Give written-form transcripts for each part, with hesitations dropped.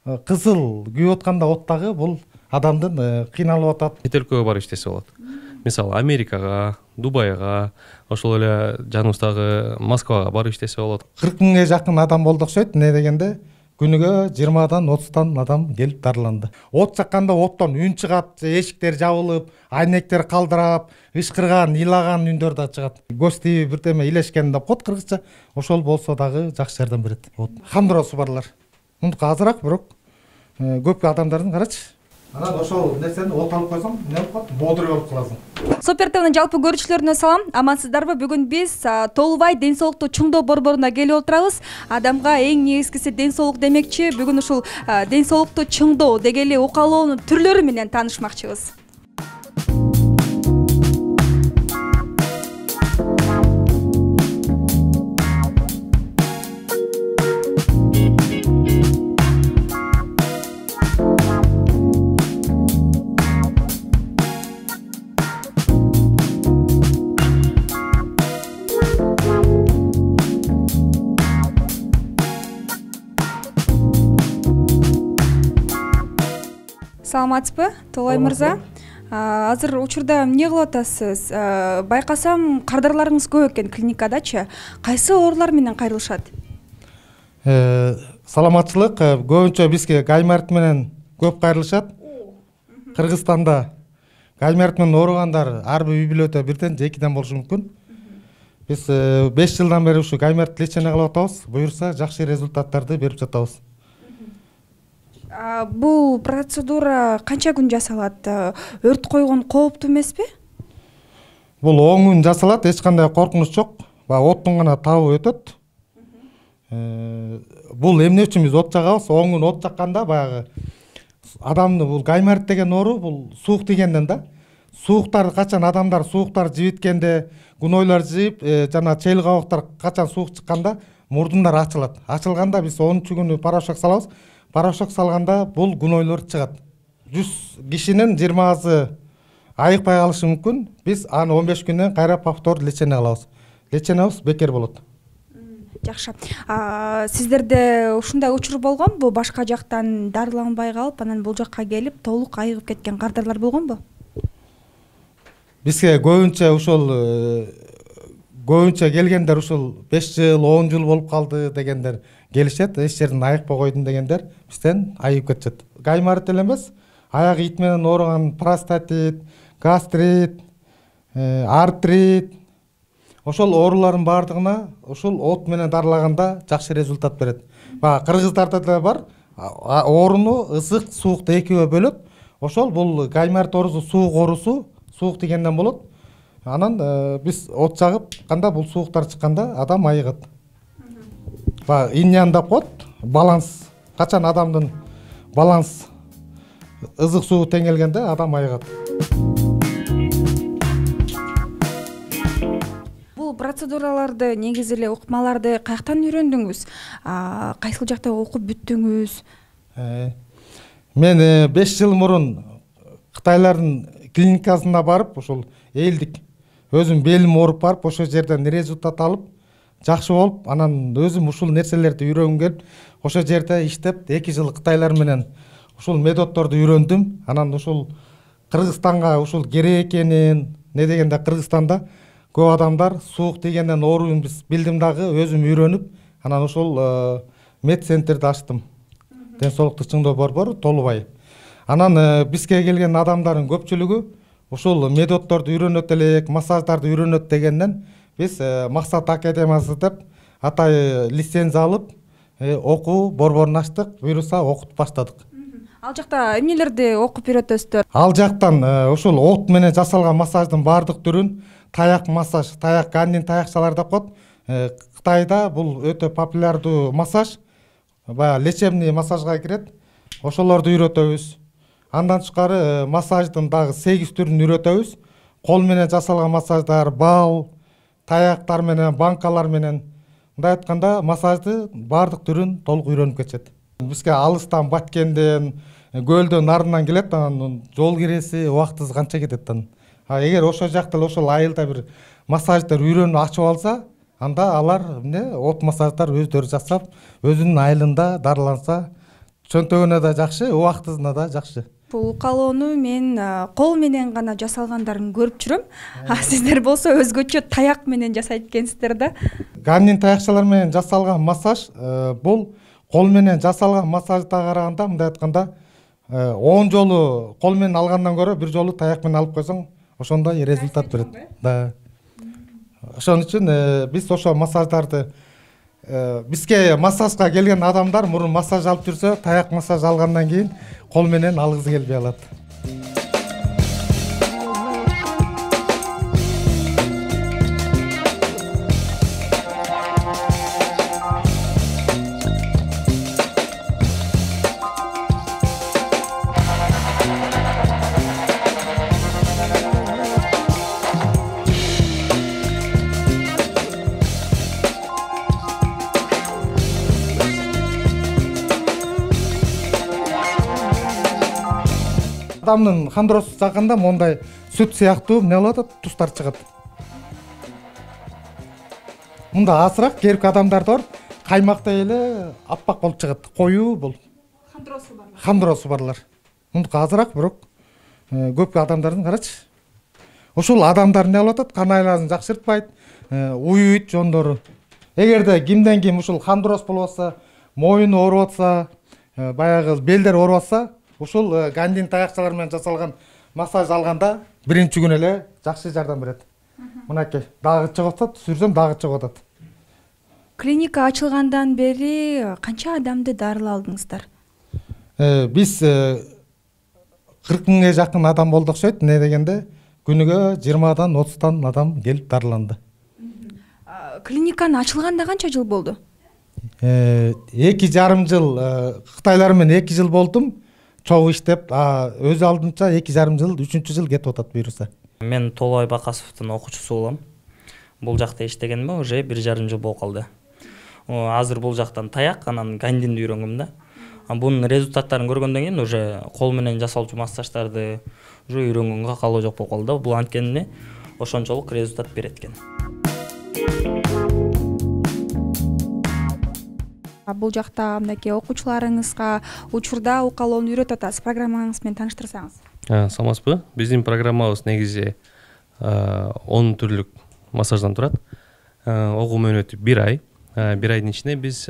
Кызыл күйүп атканда от дагы бул адамдын кыйналып атат. Чет өлкөгө барып иштесе болот. Мисалы Америкага, Дубайга, ошол эле жаныбыздагы Москвага барып иштесе болот. 40 миңге жакын адам болду окшойт. Не дегенде күнүгө 20-дан 30-тан адам келип дарыланды. От жакканда оттон үн чыгат, эшиктер жабылып, айнектер калдырап, ышкырган, ыйлаган үндөр да чыгат. Көз тийип бирдеме илешкен деп коет кыргызча. Ошол болсо дагы жакшы жардам берет. Хандыросу барлар. Мундук азыраак, бирок көп адамдардын карачы. Анан ошол нерсени от алып койсоң, эмне болуп калат? Боодур болуп каласың. Супер ТВнын жалпы көрүүчүлөрүнө салам. Амансыздарбы? Бүгүн биз Толубай ден соолукту чыңдоо борборуна келип отурабыз. Адамга эң негизгиси ден соолук демекчи. Бүгүн ушул ден соолукту чыңдоо дегеле укалоонун түрлөрү менен таанышмакчыбыз. Саламатсызбы, Толой мырза? Азыр учурда эмне кылып атасыз? Байкасам, кардарларыңыз көп экен клиникадачы. Кайсы оорулар менен кайрылышат? Саламатчылык көбүнчө бизге гайморит менен көп кайрылышат. Кыргызстанда гайморит менен ооругандар ар бир үй-бүлөдө бирден же экиден болушу мүмкүн. Биз 5 жылдан бери ушу гайморит лечение кылып атабыз. Буюрса жакшы результаттарды берип жатабыз. Бул процедура канча күн жасалат? Өрт койгон кооптуу эмеспи? Бул 10 күн жасалат, эч кандай коркунуч жок. Оттун гана табы өтөт. Бул эмне үчүн биз от жагабыз? 10 күн от жакканда баягы адамды бул гайморит деген оору бул суук тигенден да. Сууктар качан адамдар сууктар жибиткенде, гунойлор жип, жана чел кабактар качан суук чыкканда мурдундар ачылат. Ачылганда биз 10-чу күнү порошок салабыз. Порошок салганда бул гунойлор чыгат. 100 кишинин 20-сы айыкпай калышы мүмкүн. Биз аны 15 күндөн кайра повтор лечение кылабыз. Лечениябыз бекер болот. Жакшы. Сиздерде ушундай учур болгонбу? Башка жактан дарыланбай калып, анан бул жакка келип, толук айыгып кеткен кардарлар болгонбу? Бизге көбүнчө келгендер ушул 5 жыл, 10 жыл болуп калды дегендер келишет. Эч жерден айыкпай койдум дегендер бизден айыгып кетишет. Гайморит эле эмес, аяк ит менен ооруган простатит, гастрит, артрит, ошол оорулардын баардыгына ушул от менен дарылаганда жакшы результат берет. Кыргыздарда да бар, ооруну ысык, суукты экиге бөлөт. Ошол бул гайморит оорусу суук оорусу, суук дегенден болот. Анан биз от жагып канда бул сууктар чыкканда адам айыгат. Иньян деп коет, баланс. Качан адамдын баланс ызык суу тең келгенде адам айыгат. Бул процедураларды, негизи эле укмаларды каяктан үйрөндүңүз? Кайсыл жакта окуп бүттүңүз? Мен 5 жыл мурун Кытайлардын клиникасына барып, ушул элдик өзүм белим ооруп барып, ошол жерден результат алып, жакшы болуп, анан өзүм ушул нерселерди үйрөнгүм келип, ошол жерде иштеп 2 жыл Кытайлар менен ушул методдорду үйрөндүм. Анан ушул Кыргызстанга ушул керек экенин, не дегенде Кыргызстанда көп адамдар суук тигенден ооруун биз билдим дагы, өзүм үйрөнүп, анан ушул медцентрди ачтым. Ден соолукту чыңдоо борбору Толубай. Анан бизге келген адамдардын көпчүлүгү ушул методдорду үйрөнөт элек, массаждарды үйрөнөт дегенден биз Максат академиясы деп атай лицензия алып, окуу борборун ачтык, буюрса окутуп баштадык. Ал жакта эмнелерди окуп үйрөтөсүздөр? Ал жактан ушул от менен жасалган массаждын баардык түрүн, таяк массаж, таяк гандин таякчалар деп коет. Кытайда бул өтө популярдуу массаж, баягы лечебный массажга кирет. Ошолорду үйрөтөбүз. Андан тышкары массаждын дагы 8 түрүн үйрөтөбүз. Кол менен жасалган массаждар, бал, таяктар менен, банкалар менен. Мындай айтканда, массажды баардык түрүн толук үйрөнүп кетет. Бизге алыстан, Баткенден, көлдөн, нарынан келет, анан жол киреси, убактыбыз канча кетет анан. Эгер ошол жакта ошол айылда бир массаждар үйрөнүп ачып алса, анда алар от массаждар өздөрү жасап, өзүнүн айылында дарыланса чөнтөгүнө да жакшы, убактысына да жакшы. Бул укалоону мен кол менен гана жасалгандарын көрүп жүрөм. Сиздер болсо өзгөчө таяк менен жасайт экенсиздер да. Ганнин таякчалар менен жасалган массаж бул кол менен жасалган массажда караганда, мындай айтканда 10 жолу кол менен алгандан көрө бир жолу таяк менен алып койсоң ошондой результат берет. Да. Ошон үчүн биз ошо массаждарды бизге массажга келген адамдар мурун массаж алып жүрсө, таяк массаж алгандан кийин кол менен алгысы келбей алат. Адамдын хандросу жакында мондай сүт сыяктуу эмне болуп атат, тустар чыгат. Мында азыраак керки адамдарда бар, каймактай эле аппак болуп чыгат, коюу бул. Хандросу барлар. Мундук азыраак, бирок көп адамдардын карачы. Ошол адамдар эмне болуп атат, кан айласын жакшыртпайт, уйуйт жондору. Эгерде кимден ким ушул хандроз болуп атса, моюну ооруп атса, баягы белдер ооруп атса, ушул гандин таякчалар менен жасалган массаж алганда биринчи күнү эле жакшы жардам берет. Мынакей, дагы чыгып атат, сүрсөм дагы чыгып атат. Клиника ачылгандан бери канча адамды дарыладыңыздар? Биз 40 миңге жакын адам болду окшойт. Не дегенде күнүгө 20-дан 30-тан адам келип дарыланды. Клиниканы ачылганда канча жыл болду? 2,5 жыл Кытайлар менен 2 жыл болдум. Чогуу иштеп, өз алдынча 2,5 жыл, 3-чү жыл кетип атат буюрса. Мен Толобай Бакасовдун окуучусу болом. Бул жакта иштегениме уже 1,5 жыл болуп калды. Азыр бул жактан таяк, анан гандинди үйрөнгөм да. Бунун результаттарын көргөндөн кийин уже кол менен жасалчу массаждарды уже үйрөнгөнгө калоо жок болуп калды. Бул анткени ошончолук результат берет экен. Бул жакта мынакей окуучуларыңызга учурда укалоону үйрөтүп атасыз. Программаңыз менен тааныштырсаңыз. Саламатсызбы? Биздин программабыз негизи 10 түрлүк массаждан турат. Огуу мөөнөтү 1 ай. 1 айдын ичинде биз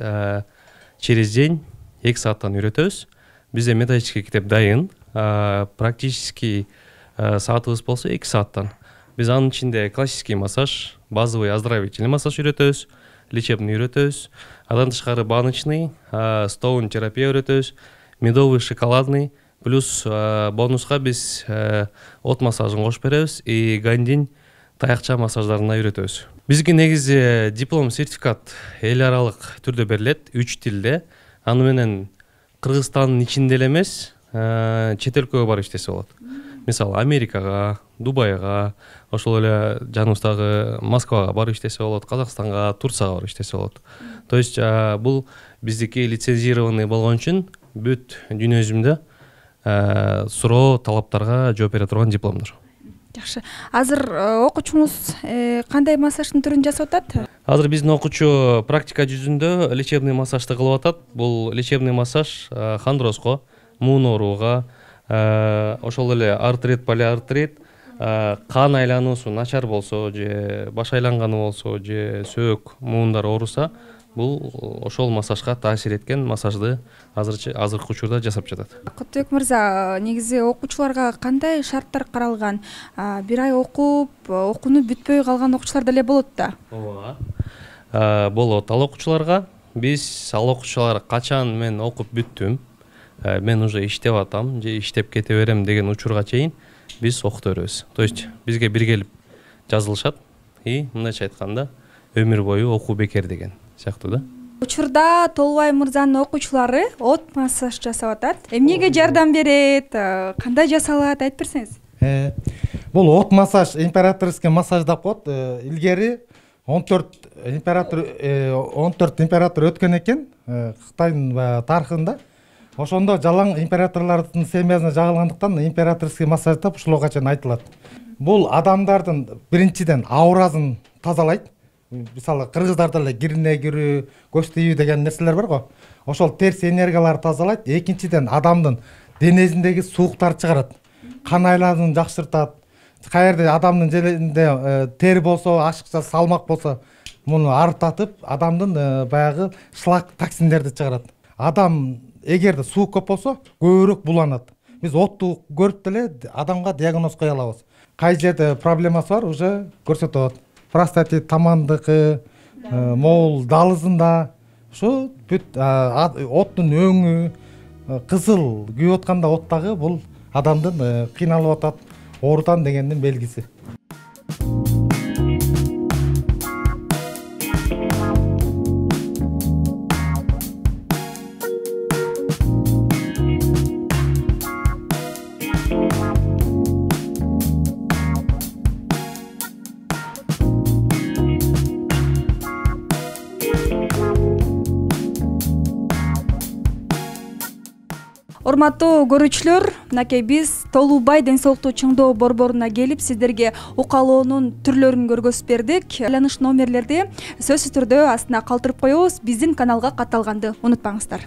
через день 2 сааттан үйрөтөбүз. Бизде методический китеп дайын. Практически саатыбыз болсо 2 сааттан. Биз анын ичинде классический массаж, базовый оздоровительный массаж үйрөтөбүз, лечебный үйрөтөбүз. Андан тышкары баночный, стоун терапия үйрөтөбүз, медовый, шоколадный, плюс бонуска биз от массажын кошуп беребиз и гандин таякча массаждарына үйрөтөбүз. Бизге негизи диплом, сертификат эл аралык түрдө берилет, 3 тилде. Аны менен Кыргызстандын ичинде эле эмес, чет өлкөгө барып иштесе болот. Мисалы Америкага, Дубайга, ошол эле жаныбыздагы Москвага барып иштесе болот, Казакстанга, Турцияга барып иштесе болот. То есть бул биздики лицензированный болгон үчүн бүт дүйнө жүзүндө суроо талаптарга жооп бере турган дипломдор. Жакшы. Азыр окуучуңуз кандай массаждын түрүн жасап атат? Азыр биздин окуучу практика жүзүндө лечебный массажды кылып атат. Бул лечебный массаж хандрозго, муун ооруга, ошол эле артрит, полиартрит, кан айлануусу начар болсо же баш айланганы болсо же сөөк, муундар ооруса, бул ошол массажга таасир эткен массажды азыркы учурда жасап жатат. Кутбек мырза, негизи окуучуларга кандай шарттар каралган? 1 ай окуп, окууну бүтпөй калган окуучулар деле болот да. Ооба. Болот. Ал окуучуларга биз ал окуучулар качан мен окуп бүттүм, мен уже иштеп атам же иштеп кете берем деген учурга чейин биз окута беребиз. То есть бизге бир келип жазылышат и мындайча айтканда өмүр бою окуу бекер деген сыяктуу да. Учурда Толобай мырзанын окуучулары от массаж жасап атат. Эмнеге жардам берет? Кандай жасалат? Айтып берсеңиз. Бул от массаж императорский массаж деп коет. Илгери 14 император өткөн экен Кытайдын тарыхында. Ошондо жалаң императорлордун семьясына жагылгандыктан императорский массаж деп ушулга чейин айтылат. Бул адамдардын биринчиден ауразын тазалайт. мисалы кыргыздарда эле кирине кирүү, көз тийүү деген нерселер бар го. Ошол терс энергияларды тазалайт. Экинчиден адамдын денесиндеги сууктарды чыгарат. Кан айлануун жакшыртат. Каерде адамдын жеринде тери болсо, ашыкча салмак болсо, муну арытатып, адамдын баягы шлак токсиндерди чыгарат. Адам эгерде суу көп болсо, көбүрөөк буланат. Биз отту көрүп деле адамга диагноз кое алабыз. Кай жерде проблемасы бар, уже көрсөтөт. Простатит, тамандыкы, моол далызында, ушу бүт оттун өңү, кызыл күйүп атканда оттагы бул адамдын кыйналып атат, оорутан дегендин белгиси. Урматтуу көрүүчүлөр, мынакей биз Толубай ден соолукту чыңдоо борборуна келип, сиздерге укалоонун түрлөрүн көргөзүп бердик. Айланыш номерлерди сөзсүз түрдө астына калтырып коебуз. Биздин каналга катталганды унутпаңыздар.